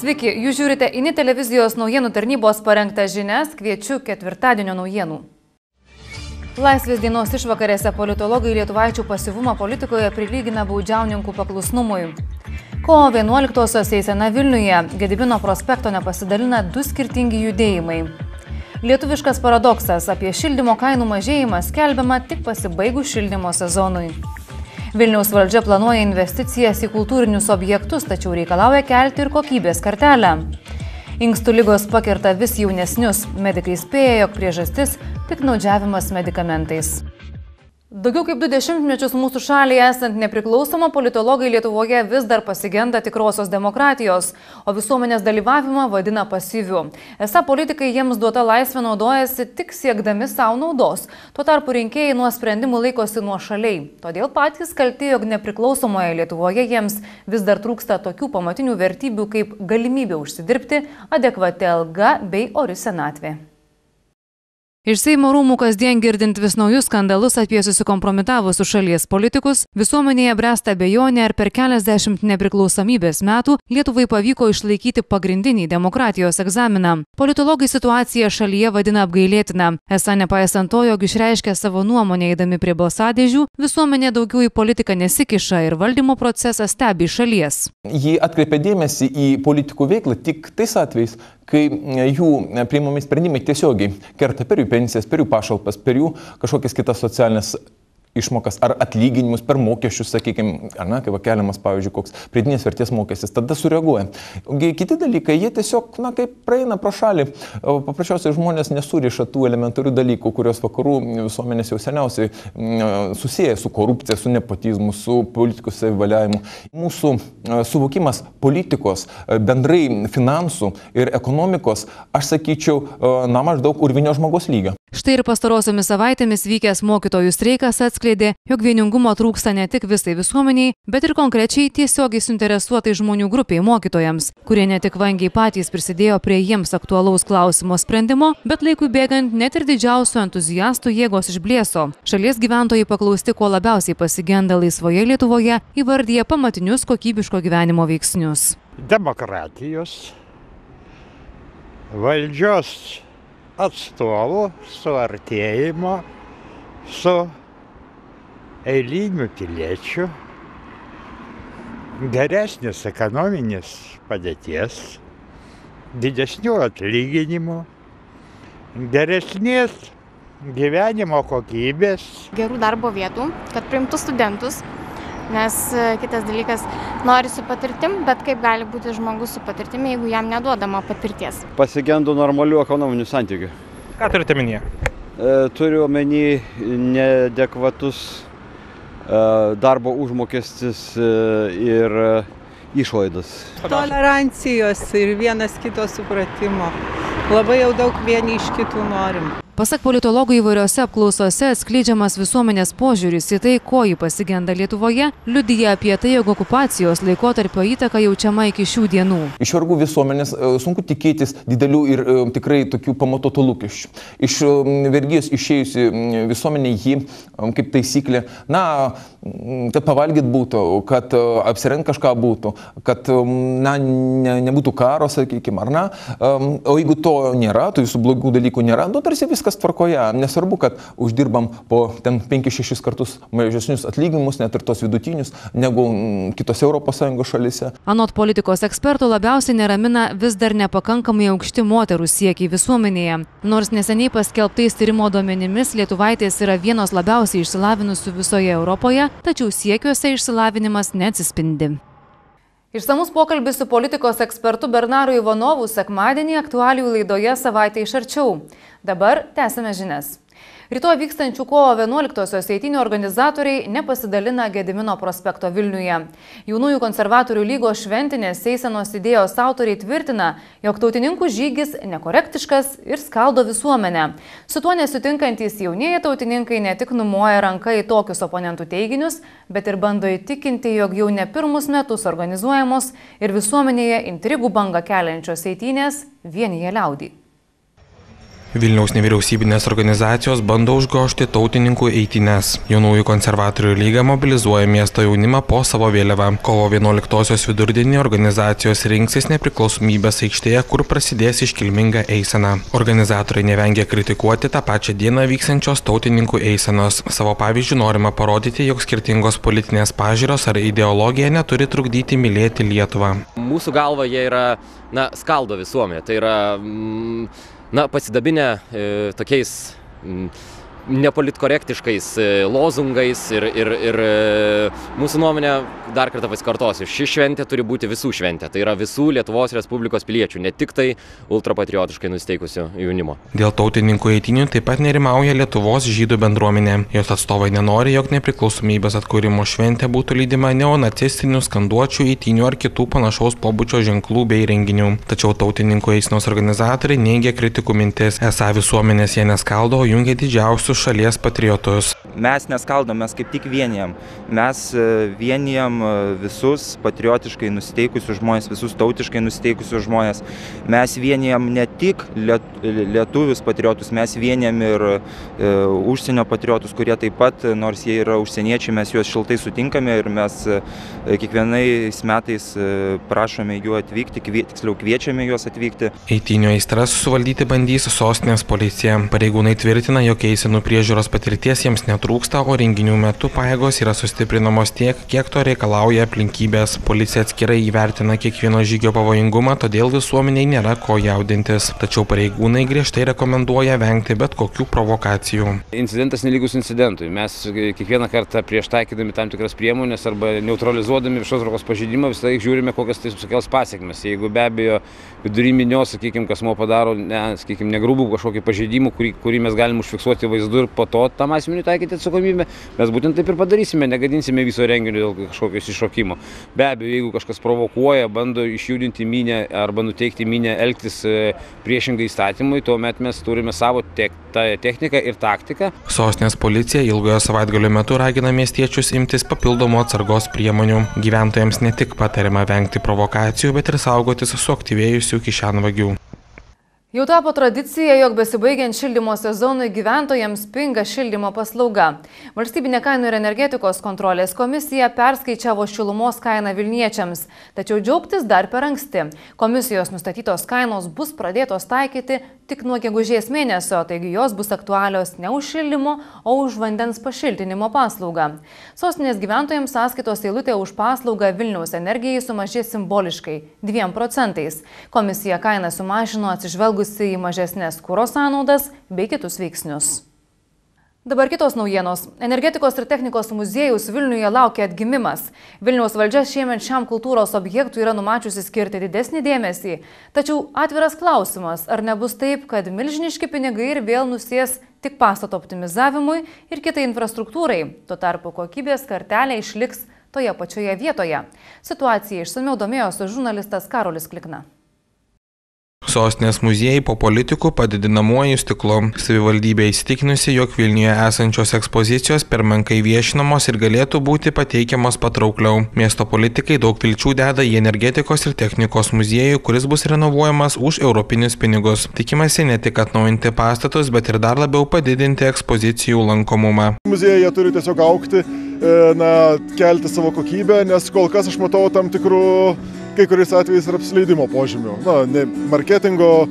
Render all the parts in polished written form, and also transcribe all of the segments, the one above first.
Sveiki, jūs žiūrite INI televizijos naujienų tarnybos parengtą žinias, kviečiu ketvirtadienio naujienų. Laisvės dienos išvakarėse politologai lietuvaičių pasyvumą politikoje prilygina baudžiauninkų paklusnumui. Kovo 11-osios eisena Vilniuje Gedimino prospekto nepasidalina du skirtingi judėjimai. Lietuviškas paradoksas apie šildymo kainų mažėjimą skelbiama tik pasibaigus šildymo sezonui. Vilniaus valdžia planuoja investicijas į kultūrinius objektus, tačiau reikalauja kelti ir kokybės kartelę. Inkstų ligos pakerta vis jaunesnius. Medikai spėja, jog priežastis – piktnaudžiavimas medikamentais. Daugiau kaip 20 mečius mūsų šalyje esant nepriklausoma, politologai Lietuvoje vis dar pasigenda tikrosios demokratijos, o visuomenės dalyvavimą vadina pasyviu. Esą politikai jiems duota laisvė naudojasi tik siekdami savo naudos. Tuo tarpu rinkėjai nuo sprendimų laikosi nuošaliai. Todėl patys kalti, jog nepriklausomoje Lietuvoje jiems vis dar trūksta tokių pamatinių vertybių kaip galimybė užsidirbti, adekvati alga bei ori senatvė. Iš Seimo rūmų kasdien girdint vis naujus skandalus apie susikompromitavusius šalies politikus, visuomenėje bręsta abejonė, ar per keliasdešimt nepriklausomybės metų Lietuvai pavyko išlaikyti pagrindinį demokratijos egzaminą. Politologai situaciją šalyje vadina apgailėtina. Esą nepaisant to, jog išreiškia savo nuomonę eidami prie balsadėžių, visuomenė daugiau į politiką nesikiša ir valdymo procesą stebi iš šalies. Ji atkreipia dėmesį į politikų veiklą tik tais atvejais, kai jų priimami sprendimai tiesiogiai kerta per jų pensijas, per jų pašalpas, per jų kažkokias kitas socialinės išmokas ar atlyginimus per mokesčius, sakykime, kai keliamas, pavyzdžiui, koks pridėtinės vertės mokestis, tada sureaguoja. Kiti dalykai, jie tiesiog, kaip praeina pro šalį. Paprasčiausiai žmonės nesuriša tų elementarių dalykų, kurios vakarų visuomenės jau seniausiai susiję su korupcija, su nepotizmu, su politikos savivaliavimu. Mūsų suvokimas politikos, bendrai finansų ir ekonomikos, aš sakyčiau, maždaug urvinio žmogaus lygio. Štai ir pastarosiomis savaitėmis vykęs mokytojų streikas atskleidė, jog vieningumo trūksta ne tik visai visuomeniai, bet ir konkrečiai tiesiogiai suinteresuotai žmonių grupiai mokytojams, kurie ne tik vangiai patys prisidėjo prie jiems aktualaus klausimo sprendimo, bet laikui bėgant net ir didžiausių entuziastų jėgos išblėso. Šalies gyventojai paklausti, ko labiausiai pasigenda laisvoje Lietuvoje, įvardyja pamatinius kokybiško gyvenimo veiksnius. Demokratijos, valdžios atstovų suartėjimo su eiliniu piliečiu, geresnės ekonominės padėties, didesnių atlyginimų, geresnės gyvenimo kokybės. Gerų darbo vietų, kad priimtų studentus, nes kitas dalykas, nori su patirtim, bet kaip gali būti žmogus su patirtimi, jeigu jam neduodama patirties. Pasigendu normalių ekonominių santykių. Ką turite omenyje? Turiu omeny neadekvatus darbo užmokestis ir išlaidas. Tolerancijos ir vienas kito supratimo. Labai jau daug vieni iš kitų norim. Pasak politologų įvairiose apklausose atskleidžiamas visuomenės požiūris į tai, ko ji pasigenda Lietuvoje, liudija apie tai, jog okupacijos laikotarpio įtaka jaučiama iki šių dienų. Iš vargų visuomenės sunku tikėtis didelių ir tikrai tokių pamatuotų lūkesčių. Iš vergijos išėjusi visuomenė jį, kaip taisyklė, kad pavalgyt būtų, kad apsirengti kažką būtų, kad nebūtų karo, sakykime, ar ne. O jeigu to nėra, tų visų blogų dalykų nėra, tarsi viskas tvarkoje. Nesvarbu, kad uždirbam po 5-6 kartus mažesnius atlyginimus, net ir tos vidutinius, negu kitose ES šalyse. Anot politikos ekspertų labiausiai neramina vis dar nepakankamai aukšti moterų siekiai visuomenėje. Nors neseniai paskelbtais tyrimo duomenimis lietuvaitės yra vienos labiausiai išsilavinusių visoje Europoje, tačiau siekiuose išsilavinimas neatsispindi. Išsamus pokalbis su politikos ekspertu Bernaru Ivanovu sekmadienį aktualijų laidoje Savaitė iš arčiau. Dabar tęsime žinias. Rytoj vykstančių kovo 11-osios eitynių organizatoriai nepasidalina Gedimino prospekto Vilniuje. Jaunųjų konservatorių lygos šventinės eisenos idėjos autoriai tvirtina, jog tautininkų žygis nekorektiškas ir skaldo visuomenę. Su tuo nesutinkantys jaunieji tautininkai ne tik numoja ranką į tokius oponentų teiginius, bet ir bando įtikinti, jog jau ne pirmus metus organizuojamos ir visuomenėje intrigų bangą keliančios eitynės vienija liaudį. Vilniaus nevyriausybinės organizacijos bando užgožti tautininkų eitynes. Jaunųjų konservatorių lyga mobilizuoja miesto jaunimą po savo vėliavą. Kovo 11-osios vidurdienį organizacijos rinksis Nepriklausomybės aikštėje, kur prasidės iškilminga eisena. Organizatoriai nevengia kritikuoti tą pačią dieną vyksiančios tautininkų eisenos. Savo pavyzdžių norima parodyti, jog skirtingos politinės pažiūros ar ideologija neturi trukdyti mylėti Lietuvą. Mūsų galva jie yra, skaldo visuomenę. Tai yra pasidabinę tokiais nepolitkorektiškais lozungais ir mūsų nuomonė, dar kartą pasikartosiu, ši šventė turi būti visų šventė. Tai yra visų Lietuvos Respublikos piliečių, ne tik tai ultrapatriotiškai nusiteikusių jaunimo. Dėl tautininkų eitynių taip pat nerimauja Lietuvos žydų bendruomenė. Jos atstovai nenori, jog nepriklausomybės atkūrimo šventė būtų lydima neonacistinių skanduočių, eitynių ar kitų panašaus pobūdžio ženklų bei renginių. Tačiau tautininkų eisenos organizatoriai neigia kritikų mintis, esą visuomenės jie neskaldo, o jungia didžiausius šalies patriotus. Mes neskaldom, mes kaip tik vienijam. Mes vienijam visus patriotiškai nusiteikusius žmonės, visus tautiškai nusiteikusius žmonės. Mes vienijam ne tik lietuvius patriotus, mes vienijam ir užsienio patriotus, kurie taip pat, nors jie yra užsieniečiai, mes juos šiltai sutinkame ir mes kiekvienais metais prašome jų atvykti, tiksliau kviečiame juos atvykti. Eitynių aistras suvaldyti bandys sostinės policija. Pareigūnai tvirtina, jog eisenų priežiūros patirties jiems netrūksta, o renginių metu pajėgos yra sustiprinamos tiek, kiek to reikalauja aplinkybės. Policija atskirai įvertina kiekvieno žygio pavojingumą, todėl visuomeniai nėra ko jaudintis. Tačiau pareigūnai griežtai rekomenduoja vengti bet kokių provokacijų. Incidentas nelygus incidentui. Mes kiekvieną kartą prieš taikydami tam tikras priemonės arba neutralizuodami viešos tvarkos pažeidimą visą laiką žiūrime, kokias tai sukels pasekmes. Jeigu be abejo vidury minios, kasmo padaro, negrubų kažkokį pažeidimą, kurį mes galim užfiksuoti vaizdu ir po to tam asmeniui taikyti atsakomybę, mes būtent taip ir padarysime, negadinsime viso renginio dėl kažkokios iššokimo. Be abejo, jeigu kažkas provokuoja, bando išjudinti minią arba nuteikti minią elgtis priešingai įstatymui, tuomet mes turime savo techniką ir taktiką. Sostinės policija ilgojo savaitgalio metu ragina miestiečius imtis papildomų atsargos priemonių. Gyventojams ne tik patariama vengti provokacijų, bet ir saugotis suaktyvėjusių kišenvagių. Jau tapo tradicija, jog besibaigiant šildymo sezonui gyventojams pinga šildymo paslauga. Valstybinė kainų ir energetikos kontrolės komisija perskaičiavo šilumos kainą vilniečiams, tačiau džiaugtis dar per anksti. Komisijos nustatytos kainos bus pradėtos taikyti tik nuo gegužės mėnesio, taigi jos bus aktualios ne už šildymo, o už vandens pašiltinimo paslaugą. Sostinės gyventojams sąskaitos eilutė už paslaugą Vilniaus energijai sumažės simboliškai 2%. Komisija kainą sumažino atsižvelgus į mažesnės kuro sąnaudas bei kitus veiksnius. Dabar kitos naujienos. Energetikos ir technikos muziejus Vilniuje laukia atgimimas. Vilniaus valdžia šiemet šiam kultūros objektui yra numačiusi skirti didesnį dėmesį. Tačiau atviras klausimas, ar nebus taip, kad milžiniški pinigai ir vėl nusės tik pastato optimizavimui ir kitai infrastruktūrai. Tuo tarpu kokybės kartelė išliks toje pačioje vietoje. Situacija išsamiau domėjosi žurnalistas Karolis Klikna. Sostinės muziejai po politikų padidinamuoju stiklu. Savivaldybė įsitikinusi, jog Vilniuje esančios ekspozicijos per menkai viešinamos ir galėtų būti pateikiamos patraukliau. Miesto politikai daug vilčių deda į energetikos ir technikos muziejų, kuris bus renovuojamas už europinius pinigus. Tikimasi ne tik atnaujinti pastatus, bet ir dar labiau padidinti ekspozicijų lankomumą. Muziejai turi tiesiog augti, kelti savo kokybę, nes kol kas aš matau tam tikrų kai kuriais atvejais ir apsileidimo požymių. Marketingo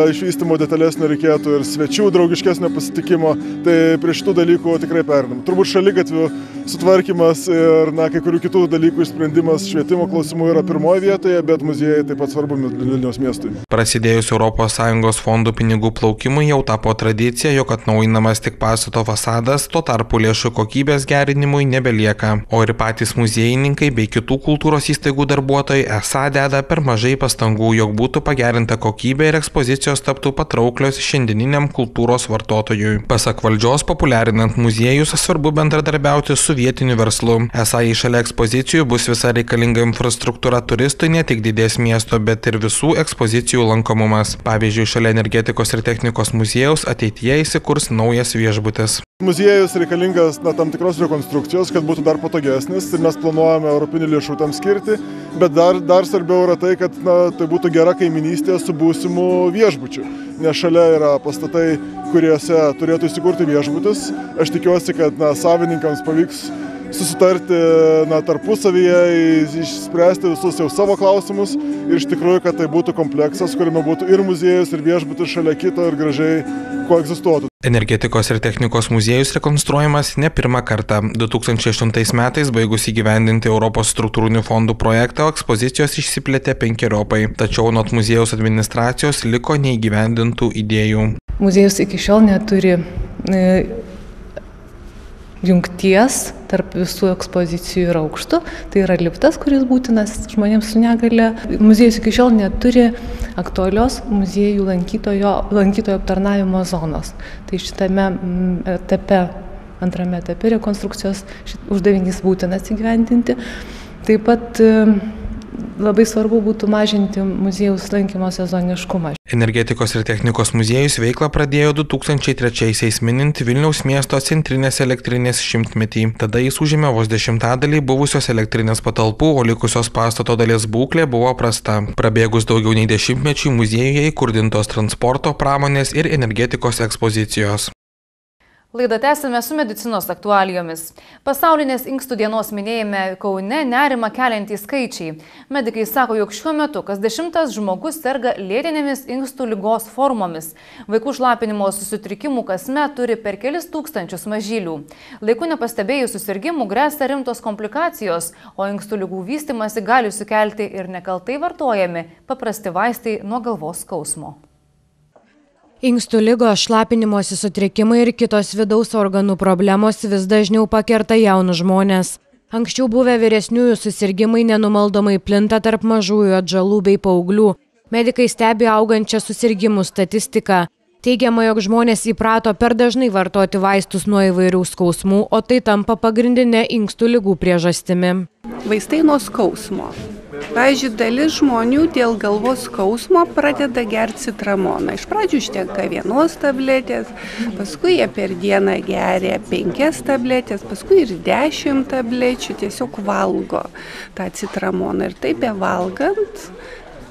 išvystymo detalesnio reikėtų ir svečių draugiškesnio pasitikimo, tai prie šitų dalykų tikrai perinam. Turbūt šaligatvių sutvarkymas ir kai kurių kitų dalykų išsprendimas švietimo klausimų yra pirmoje vietoje, bet muziejai taip pat svarbu Vilniaus miestui. Prasidėjus ES fondų pinigų plaukimui jau tapo tradicija, jog atnaujinamas tik pastato fasadas, tuo tarpu lėšų kokybės gerinimui nebelieka. O ir patys muziejininkai bei kitų kultūros įstaigų darbuotojai esą deda per mažai pastangų, jog būtų pagerinta kokybė ir ekspozicijos taptų patrauklios šiandieniniam kultūros vartotojui. Pasak valdžios, populiarinant muziejus, svarbu bendradarbiauti su vietiniu verslu. Esą į šalia ekspozicijų bus visa reikalinga infrastruktūra turistui, ne tik didės miesto, bet ir visų ekspozicijų lankomumas. Pavyzdžiui, šalia energetikos ir technikos muziejaus ateityje įsikurs naujas viešbutis. Muziejus reikalingas tam tikros rekonstrukcijos, kad būtų dar patogesnis ir mes planuojame europinių lėšų tam skirti, bet dar svarbiau yra tai, kad tai būtų gera kaiminystė su būsimu viešbučių, nes šalia yra pastatai, kuriuose turėtų įsikurti viešbutis. Aš tikiuosi, kad savininkams pavyks susitarti tarpusavyje, išspręsti visus jau savo klausimus ir iš tikrųjų, kad tai būtų kompleksas, kuriame būtų ir muziejus, ir viešbutis šalia kito ir gražiai koegzistuotų. Energetikos ir technikos muziejus rekonstruojamas ne pirmą kartą. 2008 metais baigus įgyvendinti Europos struktūrinių fondų projektą, ekspozicijos išsiplėtė 5-eriopai, tačiau anot muziejaus administracijos liko neįgyvendintų idėjų. Muziejus iki šiol neturi jungties tarp visų ekspozicijų ir aukštų. Tai yra liftas, kuris būtinas žmonėms su negale. Muziejus iki šiol neturi aktualios muziejų lankytojo aptarnavimo zonos. Tai šitame etape, antrame etape rekonstrukcijos uždavinys būtinas įgyvendinti. Taip pat labai svarbu būtų mažinti muziejaus lankymo sezoniškumą. Energetikos ir technikos muziejus veiklą pradėjo 2003-aisiais minint Vilniaus miesto centrinės elektrinės 100-metį. Tada jis užėmė vos 10% buvusios elektrinės patalpų, o likusios pastato dalies būklė buvo prasta. Prabėgus daugiau nei 10-mečiui muziejuje įkurdintos transporto, pramonės ir energetikos ekspozicijos. Laidą tęsime su medicinos aktualijomis. Pasaulinės inkstų dienos minėjime Kaune nerimą keliantys skaičiai. Medikai sako, jog šiuo metu kas 10 žmogus serga lėtinėmis inkstų ligos formomis. Vaikų šlapinimo susitrikimų kasmet turi per kelis tūkstančius mažylių. Laiku nepastebėjus susirgimų gresia rimtos komplikacijos, o inkstų ligų vystymasi gali sukelti ir nekaltai vartojami paprasti vaistai nuo galvos skausmo. Inkstų ligos, šlapinimosi sutrikimai ir kitos vidaus organų problemos vis dažniau pakerta jaunus žmonės. Anksčiau buvę vyresniųjų susirgimai nenumaldomai plinta tarp mažųjų atžalų bei paauglių. Medikai stebi augančią susirgimų statistiką. Teigiama, jog žmonės įprato per dažnai vartoti vaistus nuo įvairių skausmų, o tai tampa pagrindinė inkstų ligų priežastimi. Vaistai nuo skausmo. Pavyzdžiui, dalis žmonių dėl galvos skausmo pradeda gerti citramoną. Iš pradžių užtenka 1 tabletės, paskui jie per dieną geria 5 tabletės, paskui ir 10 tablečių, tiesiog valgo tą citramoną. Ir taip bevalgant,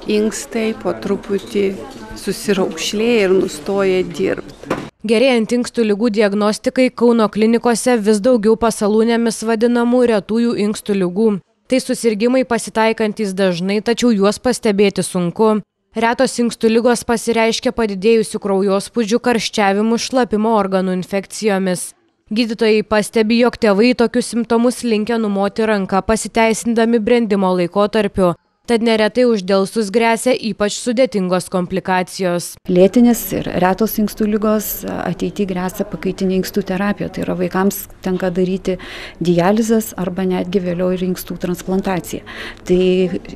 inkstai po truputį susiraukšlėja ir nustoja dirbti. Gerėjant inkstų ligų diagnostikai, Kauno klinikose vis daugiau pasalūnėmis vadinamų retųjų inkstų ligų. Tai susirgimai pasitaikantis dažnai, tačiau juos pastebėti sunku. Retos inkstų ligos pasireiškia padidėjusių kraujospūdžių, karščiavimų, šlapimo organų infekcijomis. Gydytojai pastebi, jog tėvai tokius simptomus linkę numoti ranką pasiteisindami brendimo laikotarpiu. Tad neretai uždelsus gresia ypač sudėtingos komplikacijos. Lėtinės ir retos inkstų ligos ateityje gresia pakaitinė inkstų terapija. Tai yra vaikams tenka daryti dializės arba netgi vėliau ir inkstų transplantacija. Tai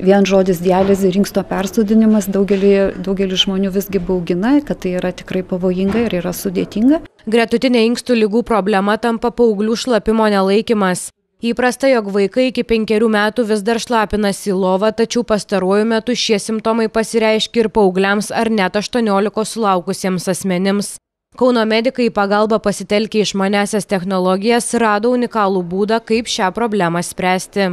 vien žodis dializė ir inksto persodinimas daugelį žmonių visgi baugina, kad tai yra tikrai pavojinga ir yra sudėtinga. Gretutinė inkstų ligų problema tampa paauglių šlapimo nelaikymas. Įprasta, jog vaikai iki 5 metų vis dar šlapinasi į lovą, tačiau pastaruoju metu šie simptomai pasireiškia ir paaugliams ar net 18 sulaukusiems asmenims. Kauno medikai į pagalbą pasitelkę išmaniasias technologijas rado unikalų būdą, kaip šią problemą spręsti.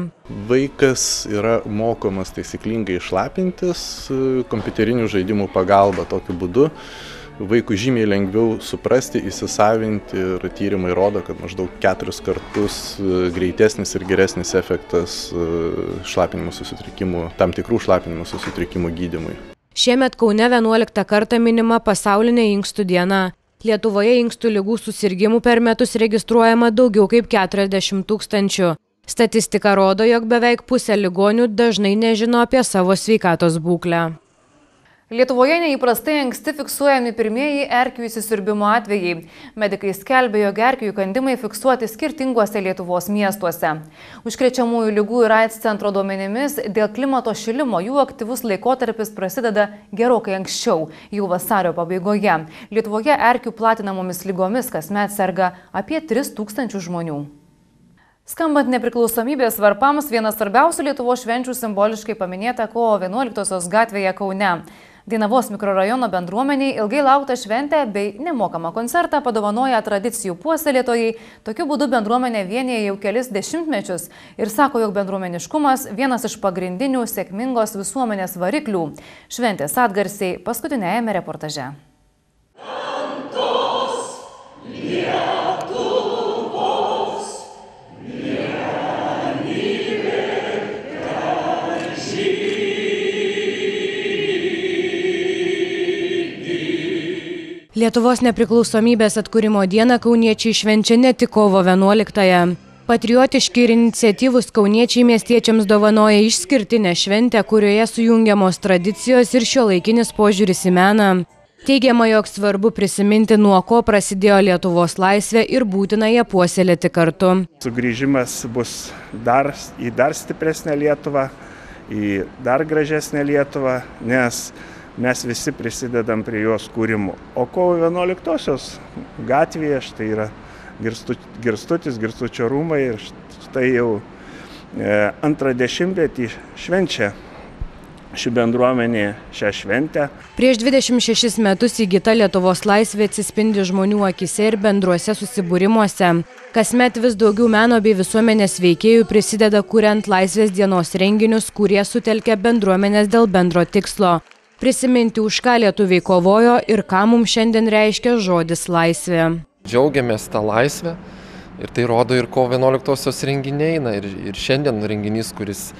Vaikas yra mokomas taisyklingai šlapintis kompiuterinių žaidimų pagalba. Tokiu būdu vaikui žymiai lengviau suprasti, įsisavinti ir tyrimai rodo, kad maždaug 4 kartus greitesnis ir geresnis efektas šlapinimo susitrikimų, tam tikrų šlapinimo susitrikimų gydymui. Šiemet Kaune 11 kartą minima pasaulinė inkstų diena. Lietuvoje inkstų ligų susirgimų per metus registruojama daugiau kaip 40 000. Statistika rodo, jog beveik pusė ligonių dažnai nežino apie savo sveikatos būklę. Lietuvoje neįprastai anksti fiksuojami pirmieji erkių įsisiurbimo atvejai. Medikai skelbė, jog erkių įkandimai fiksuoti skirtinguose Lietuvos miestuose. Užkrečiamųjų lygų ir AIDS centro duomenimis dėl klimato šilimo jų aktyvus laikotarpis prasideda gerokai anksčiau, jau vasario pabaigoje. Lietuvoje erkių platinamomis lygomis kasmet serga apie 3000 žmonių. Skambant nepriklausomybės varpams, vienas svarbiausių Lietuvos švenčių simboliškai paminėta kovo 11-osios gatvėje Kaune. Dainavos mikrorajono bendruomeniai ilgai lauktą šventę bei nemokamą koncertą padovanoja tradicijų puoselėtojai. Tokiu būdu bendruomenė vienyje jau kelis dešimtmečius ir sako, jog bendruomeniškumas vienas iš pagrindinių sėkmingos visuomenės variklių. Šventės atgarsiai paskutinėjame reportaže. Lietuvos nepriklausomybės atkūrimo dieną kauniečiai švenčia ne tik kovo 11-ąją. Patriotiški ir iniciatyvūs kauniečiai miestiečiams dovanoja išskirtinę šventę, kurioje sujungiamos tradicijos ir šiuolaikinis požiūris į meną. Teigiama, jog svarbu prisiminti, nuo ko prasidėjo Lietuvos laisvė ir būtina ją puoselėti kartu. Sugrįžimas bus į dar stipresnę Lietuvą, į dar gražesnę Lietuvą, nes mes visi prisidedam prie jos kūrimo. O kovo 11-osios gatvėje štai yra Girstutis, Girstučio rūmai ir štai jau antrą dešimtmetį švenčia ši bendruomenė šią šventę. Prieš 26 metus įgyta Lietuvos laisvė atsispindi žmonių akise ir bendruose susibūrimuose. Kasmet vis daugiau meno bei visuomenės veikėjų prisideda kuriant Laisvės dienos renginius, kurie sutelkia bendruomenės dėl bendro tikslo. Prisiminti, už ką lietuviai kovojo ir ką mums šiandien reiškia žodis laisvė. Džiaugiamės tą laisvę ir tai rodo ir kovo 11-osios renginiai, ir šiandien renginys, kuris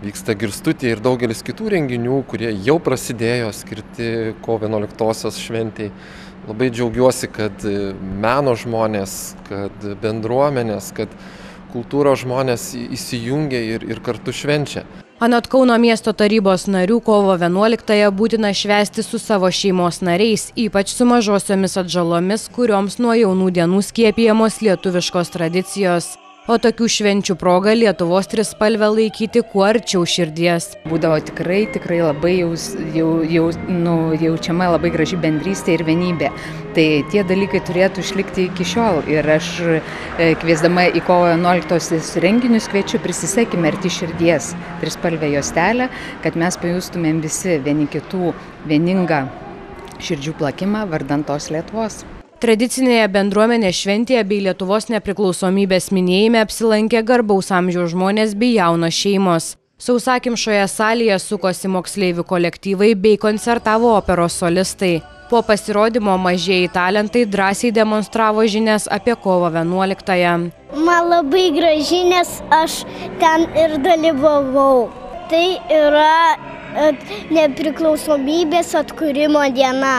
vyksta Girstutėje ir daugelis kitų renginių, kurie jau prasidėjo skirti kovo 11-osios šventei. Labai džiaugiuosi, kad meno žmonės, kad bendruomenės, kad kultūros žmonės įsijungia ir kartu švenčia. Anot Kauno miesto tarybos narių, kovo 11-ąją būtina švęsti su savo šeimos nariais, ypač su mažosiomis atžalomis, kurioms nuo jaunų dienų skiepijamos lietuviškos tradicijos. O tokių švenčių proga Lietuvos trispalvę laikyti kuo arčiau širdies. Būdavo tikrai labai jaučiama labai graži bendrystė ir vienybė. Tai tie dalykai turėtų išlikti iki šiol. Ir aš kviesdama į kovo 11-osios renginius kviečiu, prisisekime arti širdies trispalvę juostelę, kad mes pajustumėm visi vieni kitų vieningą širdžių plakimą vardan tos Lietuvos. Tradicinėje bendruomenės šventėje bei Lietuvos nepriklausomybės minėjime apsilankė garbaus amžiaus žmonės bei jaunos šeimos. Sausakimšoje salėje sukosi moksleivių kolektyvai bei koncertavo operos solistai. Po pasirodymo mažieji talentai drąsiai demonstravo žinias apie kovo 11-ąją. Man labai graži, nes aš ten ir dalyvavau. Tai yra nepriklausomybės atkūrimo diena.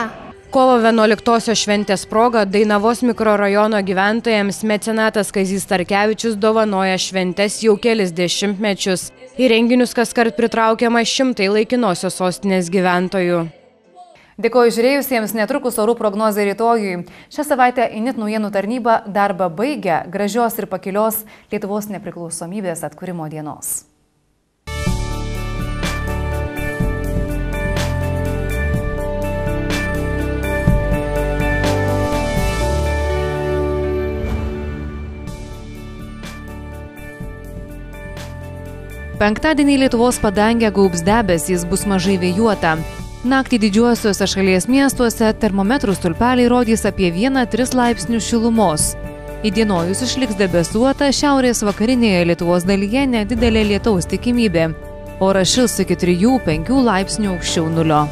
Kovo 11-osios šventės proga Dainavos mikrorajono gyventojams mecenatas Kazys Starkevičius dovanoja šventes jau kelis dešimtmečius. Į renginius kaskart pritraukiama šimtai laikinosios sostinės gyventojų. Dėkoju žiūrėjusiems, netrukus orų prognozė rytojui. Šią savaitę INIT naujienų tarnyba darbą baigia. Gražios ir pakilios Lietuvos nepriklausomybės atkūrimo dienos. Penktadienį Lietuvos padangę gaubs debesys, bus mažai vėjuota. Naktį didžiuosiuose šalies miestuose termometrų stulpeliai rodys apie 1–3 laipsnių šilumos. Įdienojus išliks debesuota, šiaurės vakarinėje Lietuvos dalyje nedidelė lietaus tikimybė. Oras šils iki 3–5 laipsnių aukščiau nulio.